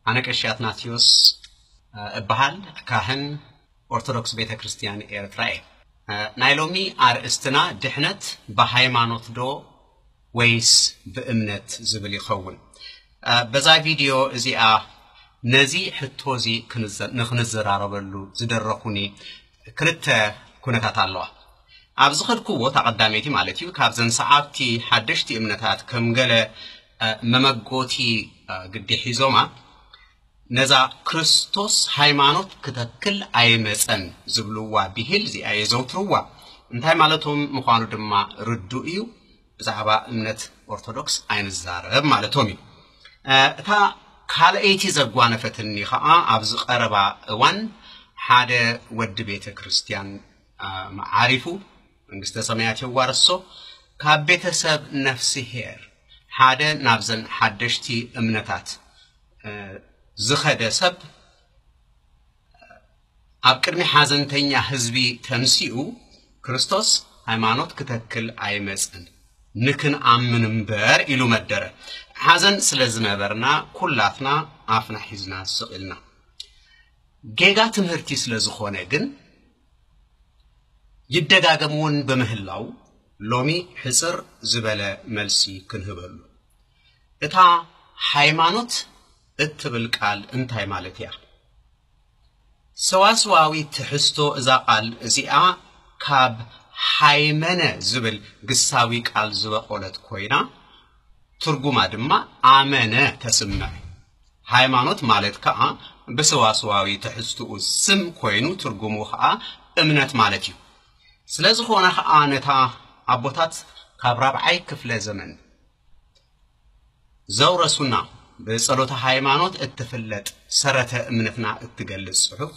ኣነ ቀሺ ኣትናቴዎስ እበሃል፣ ካህን ኦርቶዶክስ ቤተ ክርስቲያን ኤርትራ እየ። ናይ ሎሚ ኣርእስትና ድሕነት ብሃይማኖት ዶ ወይስ ብእምነት ዝብል ይኸውን። በዛ ቪድዮ እዚኣ ነዚ ሕቶ እዚ ክንዘ-፣ ንኽንዘራረበሉ ዝደረኹኒ ክልተ ኩነታት ኣለዋ። ኣብ ዝኸድኩዎ፣ እታ ቀዳመይቲ ማለት እዩ፣ ካብዘን ሰዓብቲ ሓደሽቲ እምነታት ከም ገለ፣ እ፣ መመጎቲ፣ እ፣ ግዲ ሒዞማ፣ ነዛ ክርስቶስ ሃይማኖት ክተክል ኣይመጸን ዝብልዋ ብሂል እዚኣ የዘውትርዋ። እንታይ ማለቶም ምዃኑ ድማ ርዱእ እዩ። ብዛዕባ እምነት ኦርቶዶክስ ኣይንዛረብ ማለቶም እዩ። እ፣ እታ ካልኣይቲ ዘጓነፈትኒ ኸዓ፣ ኣብዚ ቀረባ እዋን ሓደ ወዲ ቤተ ክርስቲያን፣ እ፣ መዓሪፉ፣ መንግስተ ሰማያት የዋርሶ፣ ካብ ቤተሰብ ነፍስሄር ሓደ ናብዘን ሓደሽቲ እምነታት፣ እ፣ ዝኸደ ሰብ ኣብ ቅድሚ ሓዘንተኛ ህዝቢ ተንሲኡ፣ "ክርስቶስ ሃይማኖት ክተክል ኣይመጽን፣ ንክንኣምን እምበር" ኢሉ መደረ። ሓዘን ስለ ዝነበርና፣ ኩላትና ኣፍና ሒዝና ስቕ ኢልና። ጌጋ ትምህርቲ ስለ ዝኾነ ግን፣ ይደጋገም እውን ብምህላው፣ ሎሚ ሕጽር ዝበለ መልሲ ክንህበሉ። እታ ሃይማኖት እትብል ቃል እንታይ ማለት እያ? ሰዋስዋዊ ትሕዝቶ እዛ ቃል እዚኣ ካብ ሃይመነ ዝብል ግሳዊ ቃል ዝበቖለት ኮይና፣ ትርጉማ ድማ ኣመነ ተስምዕ። ሃይማኖት ማለት ከኣ ብሰዋስዋዊ ትሕዝትኡ ስም ኮይኑ፣ ትርጉሙ ከኣ እምነት ማለት እዩ። ስለ ዝኾነ ከኣ፣ ነታ ኣቦታት ካብ ራብዓይ ክፍለ ዘመን ዘውረሱና፣ ብጸሎተ ሃይማኖት እትፍለጥ ሰረተ እምነትና እትገልጽ ጽሑፍ፣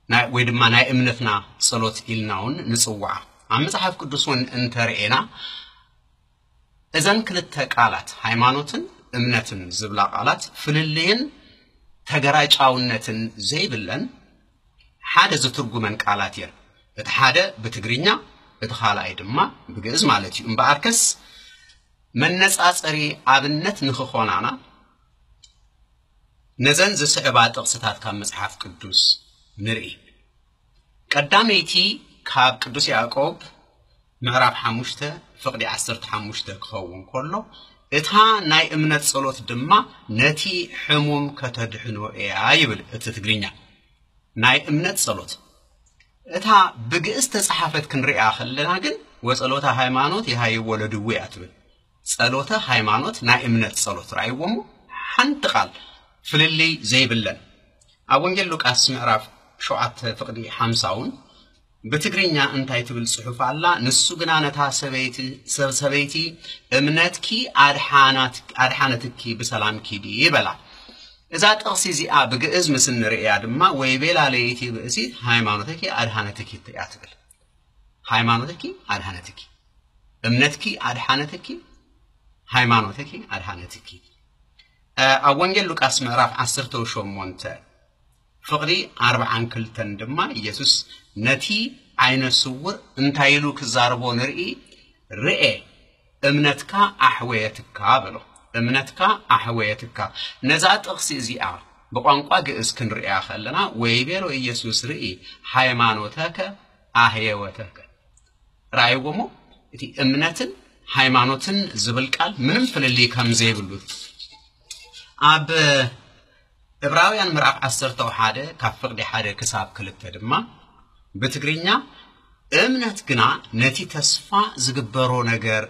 ናይ፣ ወይ ድማ ናይ እምነትና ጸሎት ኢልና እውን ንጽውዓ። ኣብ መጽሓፍ ቅዱስ እውን እንተርኤና፣ እዘን ክልተ ቃላት፣ ሃይማኖትን እምነትን ዝብላ ቃላት፣ ፍልልይን ተገራጫውነትን ዘይብለን፣ ሓደ ዝትርጉመን ቃላት እየን። እቲ ሓደ ብትግርኛ፣ እቲ ካልኣይ ድማ ብግእዝ ማለት እዩ። እምበኣርከስ፣ መነጻጸሪ ኣብነት ንኽኾናና፣ ነዘን ዝስዕባ ጥቕስታት ካብ መጽሓፍ ቅዱስ ንርኢ። ቀዳመይቲ ካብ ቅዱስ ያዕቆብ ምዕራፍ ሓሙሽተ ፍቕዲ ዓሰርተ ሓሙሽተ ክኸውን ከሎ፣ "እታ ናይ እምነት ጸሎት ድማ ነቲ ሕሙም ከተድሕኖ እያ" ይብል እቲ ትግርኛ። ናይ እምነት ጸሎት። እታ ብግእዝ ተጻሓፈት ክንሪኣ ከለና ግን፣ "ወጸሎተ ሃይማኖት የሃይዎ ለድውያ" ትብል። ጸሎተ ሃይማኖት ናይ እምነት ጸሎት፣ ረኣይዎ እሞ፣ ሓንቲ ቃል ፍልልይ ዘይብለን። ኣብ ወንጌል ሉቃስ ምዕራፍ ሸውዓተ ፍቕዲ ሓምሳ እውን ብትግርኛ እንታይ ትብል ጽሑፍ ኣላ? "ንሱ ግና ነታ ሰበይቲ፣ ሰብ-፣ ሰበይቲ፣ እምነትኪ ኣድሓናት-፣ ኣድሓነትኪ፣ ብሰላም ኪዲ" በላ። እዛ ጥቕሲ እዚኣ ብግእዝ ምስ እንርእያ ድማ፣ "ወይቤላ ለይቲ ብእሲት ሃይማኖትኪ ኣድሓነትኪ" እያ ትብል። ሃይማኖትኪ ኣድሓነትኪ፣ እምነትኪ ኣድሓነትኪ፣ ሃይማኖትኪ ኣድሓነትኪ። እ፣ ኣብ ወንጌል ሉቃስ ምዕራፍ ዓሰርተ ሸሞንተ ፍቕዲ ኣርብዓን ክልተን ድማ፣ ኢየሱስ ነቲ ዓይነ ስውር እንታይ ኢሉ ክዛረቦ ንርኢ? "ርኤ፣ እምነትካ ኣሕወየትካ" በሎ። "እምነትካ ኣሕወየትካ።" ነዛ ጥቕሲ እዚኣ ብቋንቋ ግእዝ ክንርእያ ከለና፣ "ወይቤሎ ኢየሱስ ርኢ፣ ሃይማኖተከ ኣህየወተከ።" ረኣይዎ እሞ፣ እቲ እምነትን ሃይማኖትን ዝብል ቃል ምንም ፍልልይ ከም ዘይብሉ። ኣብ ዕብራውያን ምዕራፍ ዓሰርተ ሓደ ካብ ፍቕዲ ሓደ ክሳብ ክልተ ድማ ብትግርኛ፣ "እምነት ግና ነቲ ተስፋ ዝግበሮ ነገር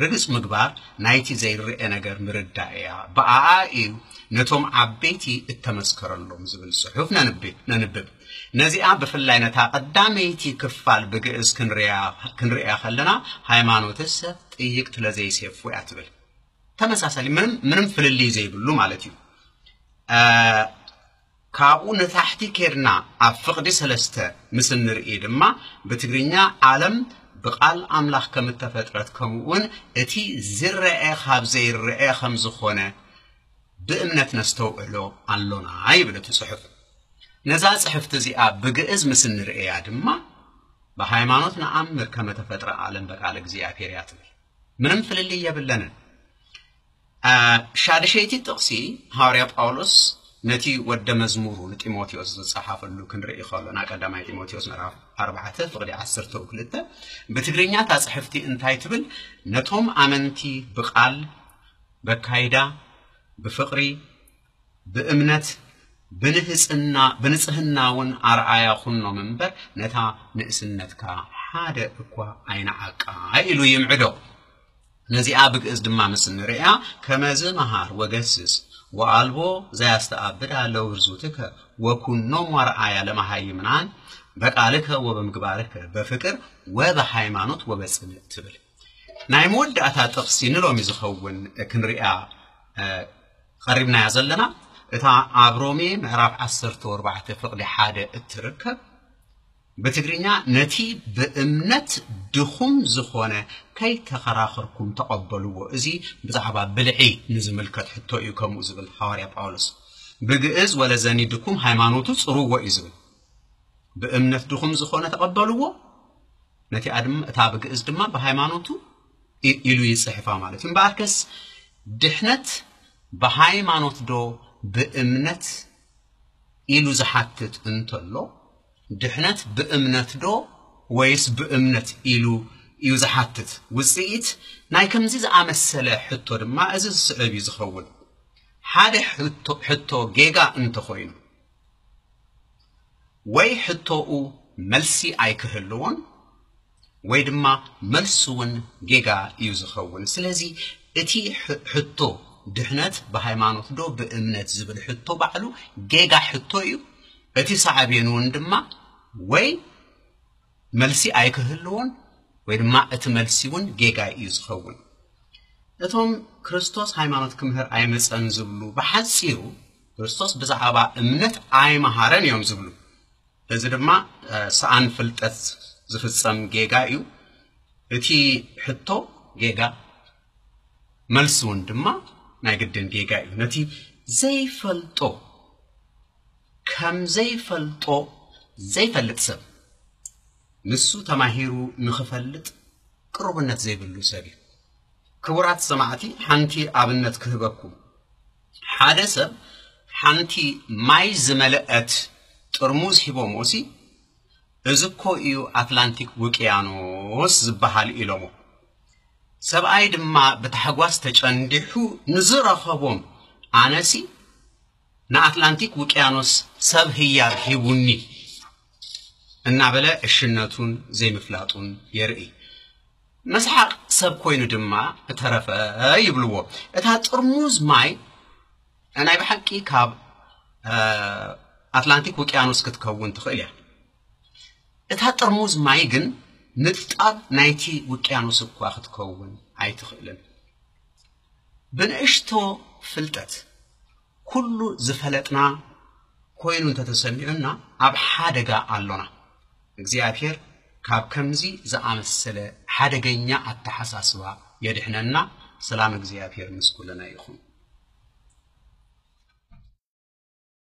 ርግጽ ምግባር፣ ናይቲ ዘይረኣ ነገር ምርዳእ እያ። ብኣኣ እዩ ነቶም ዓበይቲ እተመስከረሎም" ዝብል ጽሑፍ ነንብ-፣ ነንብብ። ነዚኣ ብፍላይ ነታ ቀዳመይቲ ክፋል ብግእዝ ክንሪኣ፣ ክንሪኣ ከለና፣ "ሃይማኖትሰ ጥይቅ ለዘይሴፉ" እያ ትብል። ተመሳሳሊ፣ ምንም፣ ምንም ፍልልይ ዘይብሉ ማለት እዩ። እ፣ ካብኡ ንታሕቲ ኬድና ኣብ ፍቕዲ ሰለስተ ምስ እንርኢ ድማ፣ ብትግርኛ፣ "ዓለም ብቃል ኣምላኽ ከም እተፈጥረት፣ ከምኡ እውን እቲ ዝረአ ካብ ዘይረአ ከም ዝኾነ ብእምነት ነስተውዕሎ ኣሎና" ይብል እቲ ጽሑፍ። ነዛ ጽሕፍቲ እዚኣ ብግእዝ ምስ እንርእያ ድማ፣ "ብሃይማኖት ነኣምር ከመ ተፈጥረ ዓለም በቃለ እግዚኣብሔር" እያ ትብል። ምንም ፍልልይ የብለንን። እ፣ ሻድሸይቲ ጥቕሲ፣ ሃዋርያ ጳውሎስ ነቲ ወደ መዝሙሩ ንጢሞቴዎስ ዝጸሓፈሉ ክንርኢ ከሎና፣ ቀዳማይ ጢሞቴዎስ ምዕራፍ ኣርባዕተ ፍቕዲ ዓሰርተ ክልተ፣ ብትግርኛ እታ ጽሕፍቲ እንታይ ትብል? ነቶም ኣመንቲ ብቓል፣ በካይዳ፣ ብፍቕሪ፣ ብእምነት፣ ብንህጽና፣ ብንጽህና እውን ኣርኣያ ኩኖም እምበር፣ ነታ ንእስነትካ ሓደ እኳ ኣይንዓቃ ኢሉ ይምዕዶ። ነዚኣ ብግእዝ ድማ ምስ ንርእያ፣ ከመዝ መሃር ወገስስ ወኣልቦ ዘያስተኣብድ ኣለውርዙትከ ወኩኖም ወርኣያ ለመሃይምናን በቃልከ ወበምግባርከ በፍቅር ወበሃይማኖት ወበጽንዕ ትብል። ናይ መወዳእታ ጥቕሲ ንሎሚ ዝኸውን ክንሪኣ፣ እ፣ ቀሪብናያ ዘለና፣ እታ ኣብ ሮሜ ምዕራፍ ዓሰርተ ኣርባዕተ ፍቕዲ ሓደ እትርከብ፣ ብትግርኛ፣ ነቲ ብእምነት ድኹም ዝኾነ ከይተኸራኸርኩም ተቐበልዎ። እዚ ብዛዕባ ብልዒ ንዝምልከት ሕቶ እዩ ከምኡ ዝብል ሃዋርያ ጳውሎስ። ብግእዝ፣ ወለዘኒ ድኩም ሃይማኖቱ ጽርዎ እዩ ዝብል። ብእምነት ድኹም ዝኾነ ተቐበልዎ፣ ነቲኣ ድማ፣ እታ ብግእዝ ድማ ብሃይማኖቱ ኢ-፣ ኢሉ ይጽሕፋ ማለት እዩ። እምበኣርከስ ድሕነት ብሃይማኖት ዶ ብእምነት ኢሉ ዝሓትት እንተሎ፣ ድሕነት ብእምነት ዶ ወይስ ብእምነት ኢሉ እዩ ዝሓትት? ውጽኢት ናይ ከምዚ ዝኣመሰለ ሕቶ ድማ እዚ ዝስዕብ እዩ ዝኸውን። ሓደ ሕቶ፣ ሕቶ ጌጋ እንተኾይኑ፣ ወይ ሕቶኡ መልሲ ኣይክህልዎን፣ ወይ ድማ መልሱ እውን ጌጋ እዩ ዝኸውን። ስለዚ እቲ ሕ-፣ ሕቶ ድሕነት ብሃይማኖት ዶ ብእምነት ዝብል ሕቶ ባዕሉ ጌጋ ሕቶ እዩ። እቲ ሳዕቤኑ እውን ድማ ወይ መልሲ ኣይክህልዎን፣ ወይ ድማ እቲ መልሲ እውን ጌጋ እዩ ዝኸውን። እቶም ክርስቶስ ሃይማኖት ክምህር ኣይመጸን ዝብሉ፣ ብሓጺሩ ክርስቶስ ብዛዕባ እምነት ኣይመሃረን እዮም ዝብሉ። እዚ ድማ፣ እ፣ ሰኣን ፍልጠት ዝፍጸም ጌጋ እዩ። እቲ ሕቶ ጌጋ፣ መልሲ እውን ድማ ናይ ግድን ጌጋ እዩ። ነቲ ዘይፈልጦ ከም ዘይፈልጦ ዘይፈልጥ ሰብ፣ ንሱ ተማሂሩ ንኽፈልጥ ቅሩብነት ዘይብሉ ሰብ እዩ። ክቡራት ሰማዕቲ፣ ሓንቲ ኣብነት ክህበኩም። ሓደ ሰብ ሓንቲ ማይ ዝመልአት ጥርሙዝ ሂቦሞሲ፣ "እዚ እኮ እዩ ኣትላንቲክ ውቅያኖስ ዝበሃል" ኢሎሞ። ሰብኣይ ድማ ብታሕጓስ ተጨንዲሑ ንዝረኸቦም፣ "ኣነሲ ንኣትላንቲክ ውቅያኖስ ሰብ ህያብ ሂቡኒ" እናበለ እሽነቱን ዘይምፍላጡን የርኢ። መስሓቕ ሰብ ኮይኑ ድማ እተረፈ ይብልዎ። እታ ጥርሙዝ ማይ ናይ ብሓቂ ካብ፣ እ፣ ኣትላንቲክ ውቅያኖስ ክትከውን ትኽእል እያ። እታ ጥርሙዝ ማይ ግን ንጣብ ናይቲ ውቅያኖስ እኳ ክትከውን ኣይትኽእልን። ብንእሽቶ ፍልጠት ኩሉ ዝፈለጥና ኮይኑ እንተተሰሚዑና፣ ኣብ ሓደጋ ኣሎና። እግዚኣብሔር ካብ ከምዚ ዝኣመሰለ ሓደገኛ ኣተሓሳስባ የድሕነና። ሰላም እግዚኣብሔር ምስ ኩልና ይኹን።